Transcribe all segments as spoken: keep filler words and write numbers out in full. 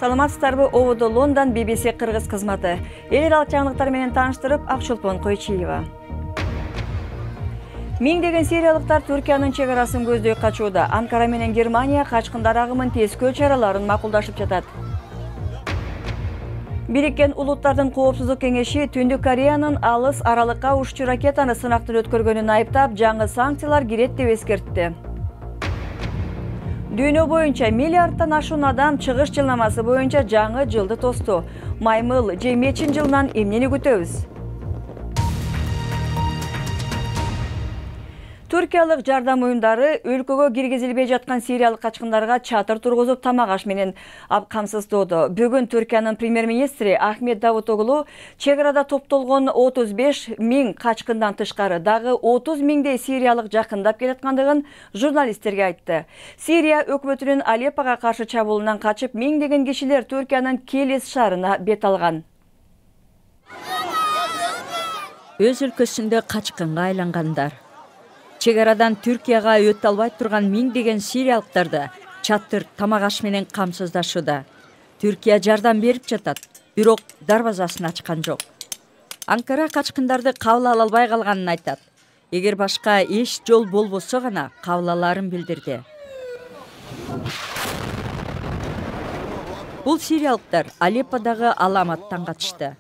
Саламатсыздарбы, ободо Лондон би би си кыргыз кызматы. Эл аралык жаңылыктар менен тааныштырып, Акчолпон Койчиева. Миңдеген сириялыктар Түркиянын чек арасын көздөй качууда. Анкара менен Германия качкындар агымын тескөө чараларын макулдашып жатат. Бириккен Улуттардын коопсуздук кеңеши Түндүк Кореянын алыс аралыкка уччу ракетаны сынактан өткөргөнүн айыптап, жаңы санкциялар кирет деп эскертти. Дүйнө боюнча миллиардтан ашуун адам чыгыш жылнамасы боюнча жаңы жылды тосту. Маймыл жыйырма үчүнчү жылынан эмнени күтөбүз? Түркиялык жардам уюмдары өлкөгө киргизилбей жаткан сириялык качкындарга чатыр тургузуп тамак аш менен камсыздоодо. Бүгүн Түркиянын премьер-министри Ахмет Давутоглу чек арада топтолгон отуз беш миң качкындан тышкары дагы отуз миңдей сириялык жакындап келаткандыгын журналисттерге айтты. Сирия өкмөтүнүн Алеппого каршы чабуулунан качып миңдеген кишилер Түркиянын Келес шаарына бет алган. Өз өлкөсүндө качкынга айлангандар. Чек арадан Түркияга өтө албай турган миңдеген сириялыктарды чатыр тамак аш менен камсыздашууда. Түркия жардам берип жатат, бирок дарбазасын ачкан жок. Анкара качкындарды кабыл ала албай калганын айтат. Эгер башка эч жол болбосо гана кабыл алаарын билдирди. Бул сириялыктар Алепподагы аламаттан качты.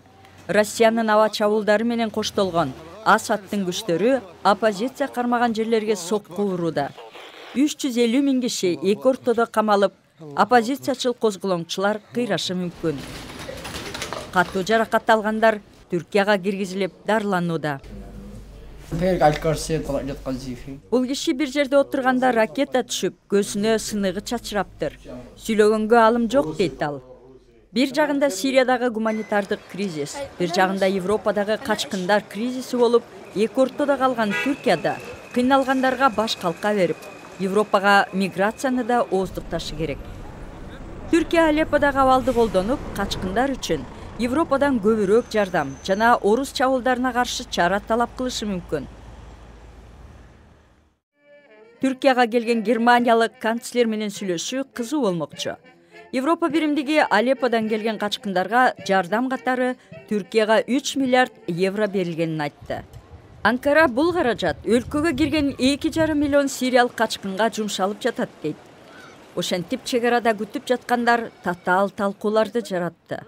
Россиянын аба чабуулдары менен коштолгон Асадтын күчтөрү оппозиция кармаган жерлерге сокку урууда. үч жүз элүү миң киши эки ортодо камалып, оппозициячыл козголоңчулар кыйрашы мүмкүн. Катуу жаракат алгандар Түркияга киргизилип дарыланууда. Бул киши бир жерде отурганда ракета түшүп, көзүнө сыныгы чачыраптыр. Сүйлөгөнгө алым жок дейт ал. Бир жагында Сириядагы гуманитардык кризис, бир жагында Европадагы качкындар кризиси болуп, эки ортодо калган Түркияда кыйналгандарга баш калка берип, Европага миграцияны да ооздукташы керек. Түркия Алепподагы абалды колдонуп, качкындар үчүн Европадан көбүрөөк жардам жана орус чабуулдарына каршы чара талап кылышы мүмкүн. Түркияга келген германиялык канцлер менен сүйлөшүү кызуу болмокчу. Европа биримдиги Алепподан келген качкындарга жардам катары Түркияга үч миллиард евро берилгенин айтты. Анкара бул каражат өлкөгө кирген эки жарым миллион сириялык качкынга жумшалып жатат дейт. Ошентип чек арада күтүп жаткандар татаал талкууларды жаратты.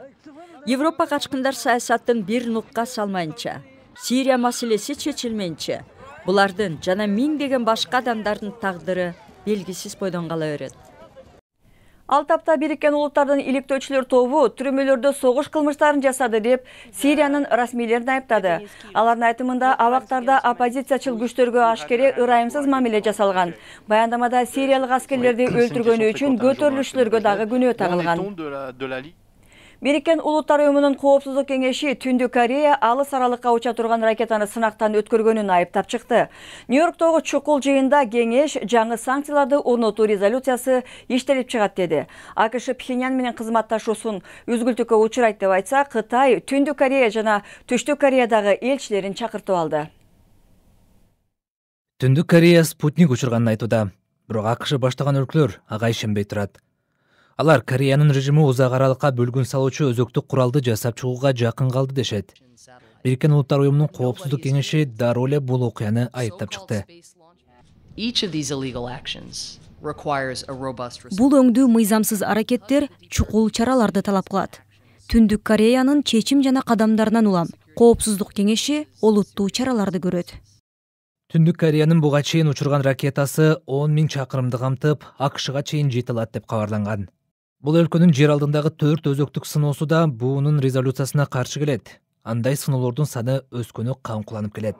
Европа качкындар саясатын бир нукка салмайынча, Сирия маселеси чечилмейинче, булардын жана миңдеген башка адамдардын тагдыры белгисиз бойдон кала берет. Ал тапта Бириккен Улуттардын иликтөөчүлөр тобу түрмөлөрдө согуш кылмыштарын жасады деп Сириянын расмийлерин айыптады. Алардын айтымында абактарда оппозициячыл күчтөргө ашкере ырайымсыз мамиле жасалган. Баяндамада сириялык аскерлерди өлтүргөнү үчүн көтөрүлүшчүлөргө дагы күнөө тагылган. Бириккен Улуттар уюмунун коопсуздук кеңеши Түндүк Корея алыс аралыкка уча турган ракетаны сынактан өткөргөнүн айыптап чыкты. Нью-Йорктогу чукул жыйында кеңеш жаңы санкцияларды орнотуу резолюциясы иштелип чыгат деди. АКШ Пхеньян менен кызматташуусун үзгүлтүккө учурайт деп айтса, Кытай Түндүк Корея жана Түштүк Кореядагы элчилерин чакыртып алды. Түндүк Корея спутник учурганын айтууда, бирок АКШ баштаган өлкөлөр ага ишенбей турат. Алар Кореянын режими узак аралыкка бөлгүн салуучу өзөктүк куралды жасап чыгууга жакын калды дешет. Бириккен Улуттар уюмунун коопсуздук кеңеши дароо эле бул окуяны айыптап чыкты. Бул өңдүү мыйзамсыз аракеттер чукул чараларды талап кылат. Түндүк Кореянын чечим жана кадамдарынан улам коопсуздук кеңеши олуттуу чараларды көрөт. Түндүк Кореянын буга чейин учурган ракетасы он миң чакырымды камтып, АКШга чейин жете алат деп кабарланган. Бул өлкөнүн жер алдындагы төрт өзөктүк сыноосу да буунун резолюциясына каршы келет. Андай сыноолордун саны өскөнү камкуланып келет.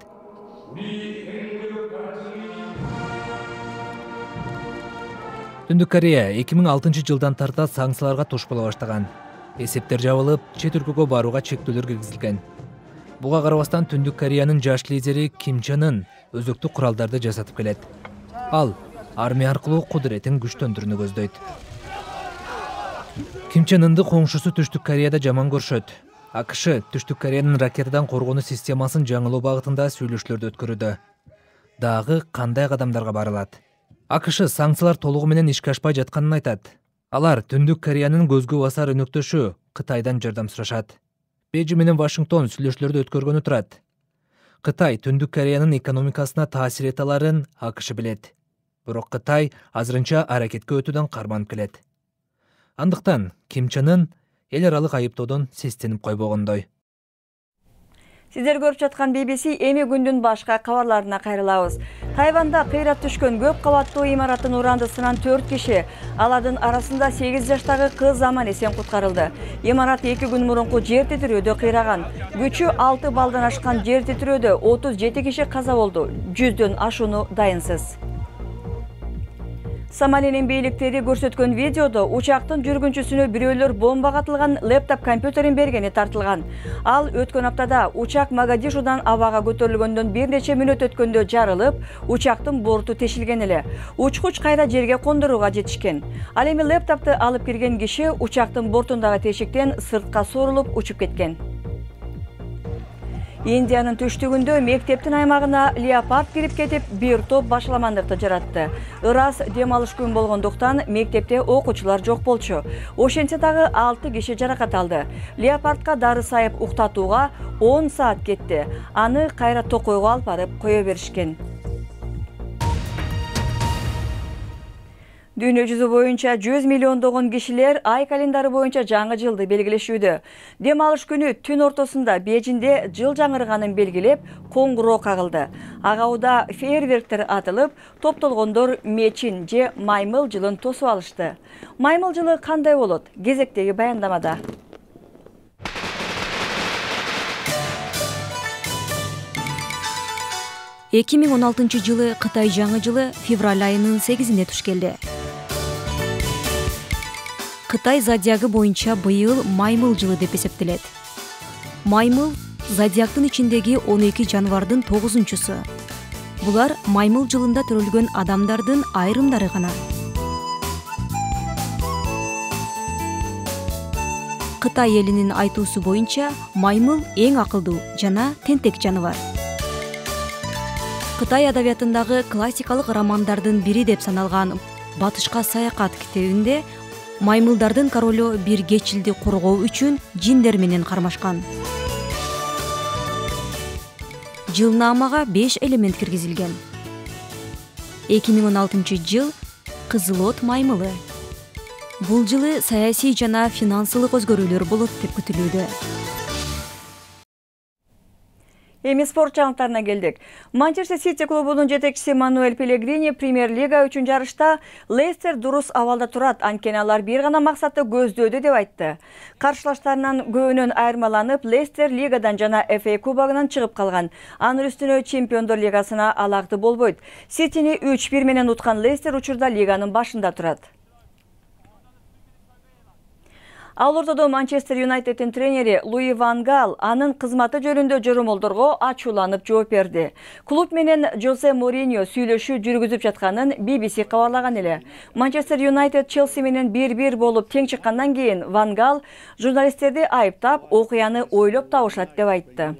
Түндүк Корея эки миң алтынчы жылдан тарта санкцияларга туш боло баштаган. Эсептер жабылып, чет өлкөгө барууга чектөөлөр киргизилген. Буга карабастан Түндүк Кореянын жаш лидери Ким Чен Ын өзөктүк куралдарды жасатып келет. Ал армия аркылуу кудуретин күчтөндүрүүнү көздөйт. Ким Чен Ынды коңшусу Түштүк Кореяда жаман көрүшөт. АКШ Түштүк Кореянын ракетадан коргонуу системасын жаңылоо багытында сүйлөшүүлөрдү өткөрүүдө. Дагы кандай кадамдарга барылат? АКШ санкциялар толугу менен ишке ашпай жатканын айтат. Алар Түндүк Кореянын көзгө басар өнөктөшү Кытайдан жардам сурашат. Бейжиң менен Вашингтон сүйлөшүүлөрдү өткөргөнү турат. Кытай Түндүк Кореянын экономикасына таасир эте аларын АКШ билет. Бирок Кытай азырынча аракетке өтүүдөн карманып келет. Андыктан Ким Чен Ын эл аралык айыптоодон сестенип койбогондой. Сиздер көрүп жаткан би би си эми күндүн башка кабарларына кайрылабыз. Тайванда кыйрап түшкөн көп кабаттуу имараттын урандысынан төрт киши, алардын арасында сегиз жаштагы кыз аман эсен куткарылды. Имарат эки күн мурунку жер титирөөдө кыйраган. Күчү алты балдан ашкан жер титирөөдө отуз жети киши каза болду. жүздөн ашууну дайынсыз. Сомалинин бийликтери көрсөткөн видеодо учактын жүргүнчүсүнө бирөөлөр бомбага атылган лептоп компьютерин бергени тартылган. Ал өткөн аптада учак Могадишудан абага көтөрүлгөндөн бир нече мүнөт өткөндө жарылып, учактын борту тешилген эле. Учкуч кайра жерге кондурууга жетишкен. Ал эми лептопту алып кирген киши учактын бортундагы тешиктен сыртка сорулуп учуп кеткен. Индиянын түштүгүндө мектептин аймагына леопард кирип кетип, бир топ башаламандыкты жаратты. Ырас дем алыш күн болгондуктан мектепте окуучулар жок болчу. Ошентсе дагы алты киши жаракат алды. Леопардка дары сайып уктатууга он саат кетти. Аны кайра токойго алып барып кое беришкен. Дүйнө жүзү боюнча жүз миллиондогон кишилер ай календары боюнча жаңы жылды белгилешүүдө. Дем алыш күнү түн ортосунда Бейжиңде жыл жаңырганын белгилеп, коңгуроо кагылды. Ага уда фейерверктер атылып, топтолгондор мечин же маймыл жылын тосуп алышты. Маймыл жылы кандай болот? Кезектеги баяндамада. эки миң он алтынчы жылы Кытай жаңы жылы февраль айынын сегизинде туш келди. Кытай зодиагы боюнча быйыл маймыл жылы деп эсептелет. Маймыл зодиактын ичиндеги он эки жаныбардын тогузунчусу. Булар маймыл жылында төрөлгөн адамдардын айрымдары гана. Кытай элинин айтуусу боюнча маймыл эң акылдуу жана тентек жаныбар. Кытай адабиятындагы классикалык романдардын бири деп саналган Батышка саякат китебинде маймылдардын королу бир кечилди коргоо үчүн жиндер менен кармашкан. Жылнаамага беш элемент киргизилген. эки миң он алтынчы жыл Кызыл от маймылы. Бул жылы саясий жана финансылык өзгөрүүлөр болот деп күтүлүүдө. Эми спорт жаңылыктарына келдик. Манчестер Сити клубунун жетекчиси Мануэль Пелегрини премьер-лига үчүн жарышта Лестер дурус абалда турат, анткени алар бир гана максатты көздөөдү деп айтты. Каршылаштарынан көбүнөн айырмаланып, Лестер лигадан жана эф эй кубогунан чыгып калган. Анын үстүнө Чемпиондор лигасына алакты болбойт. Ситини үч бир менен уткан Лестер учурда лиганын башында турат. Ал ортодо Манчестер Юнайтеддин тренери Луи Ван Гал анын кызматы жөнүндө жорумолдорго ачууланып жооп берди. Клуб менен Жозе Мориньо сүйлөшүү жүргүзүп жатканын би би си кабарлаган эле. Манчестер Юнайтед Челси менен бир бир болуп тең чыккандан кийин Ван Гал журналисттерди айыптап, окуяны ойлоп табышат деп айтты.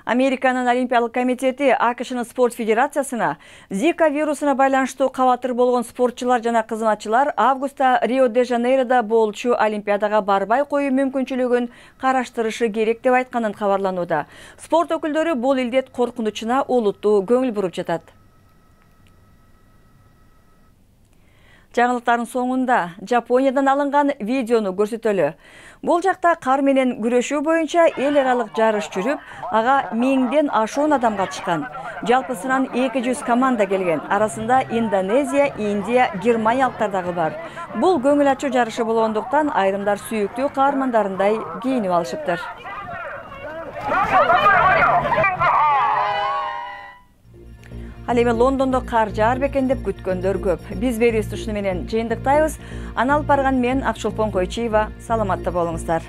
Американын Олимпиялык комитети АКШнын спорт федерациясына Зика вирусуна байланыштуу кабатыр болгон спортчулар жана кызматчылар августта Рио-де-Жанейродо болчу Олимпиадага барбай коюу мүмкүнчүлүгүн караштырышы керек деп айтканын кабарланууда. Спорт өкүлдөрү бул илдет коркунучуна олуттуу көңүл буруп жатат. Жаңылыктардын соңунда Жапониядан алынган видеону көрсөтөлү. Бул жакта кар менен күрөшүү боюнча эл аралык жарыш жүрүп, ага миңден ашуун адам катышкан. Жалпысынан эки жүз команда келген. Арасында Индонезия, Индия, Германиялыктар дагы бар. Бул көңүл ачуу жарышы болгондуктан айрымдар сүйүктүү каармандарындай кийинип алышыптыр. Ал эми Лондондо кар жаар бекен деп күткөндөр көп. Биз берүүбүз ушуну менен жыйынтыктайбыз. Аны алып барган мен Акчолпон Койчиева. Саламатта болуңуздар.